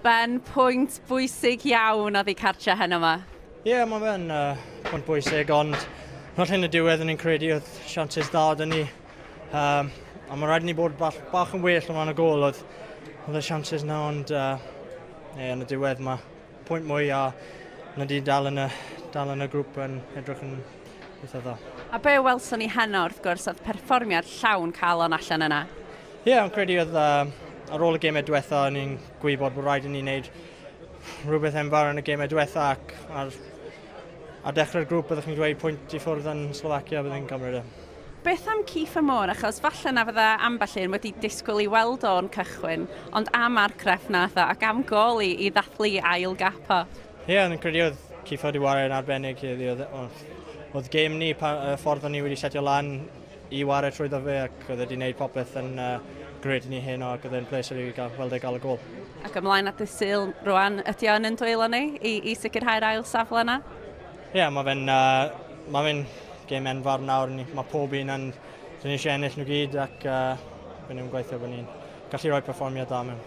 Ben, pwynt bwysig iawn oddi cartre heno yma. Ie, yeah, mae fe'n pwynt bwysig, ond falle yn y diwedd o'n i'n credu oedd chances dda 'da ni. A mae rhaid i ni bod bach yn well o ran y gôl, oedd y chances na, ond yeah, yn y diwedd mae pwynt mwy a na di dal yn y grŵp yn edrych yn eitha dda. A be welson ni heno wrth gwrs oedd perfformiad llawn calon allan yna? Ie, yeah, o'n credu oedd ar ôl y gemau diwetha, o'n i'n gwybod bod rhaid i ni wneud rhywbeth enfawr yn y gemau diwetha ac ar dechrau'r grŵp byddwch chi'n dweud pwynt i ffwrdd yn Slovacia byddai'n cymryd e. Beth am Kieffer Moore, achos falle na fydda ambell un wedi disgwyl i weld o'n cychwyn, ond am argraff nath o ac am gol i ddathlu ail gap o. Ie, yeah, o'n credu oedd Kieffer wedi wario yn arbennig. Oedd gêm ni, y ffordd o'n ni wedi setio lan i wario trwyddo fe ac oedd wedi gwneud popeth yn grêt i ni heno ac oedd e'n pleser i gael, weld e gael y gôl. Ac ymlaen at y Sul rwan, ydy o'n yn dwylo ni i sicrhau'r ail safle yna? Ie, yeah, mae fe'n gêm enfawr nawr. Mae pob un yn, dyn ni eisiau ennill nhw gyd ac bydd ni'n gweithio bod ni'n gallu rhoi perfformiad da mewn.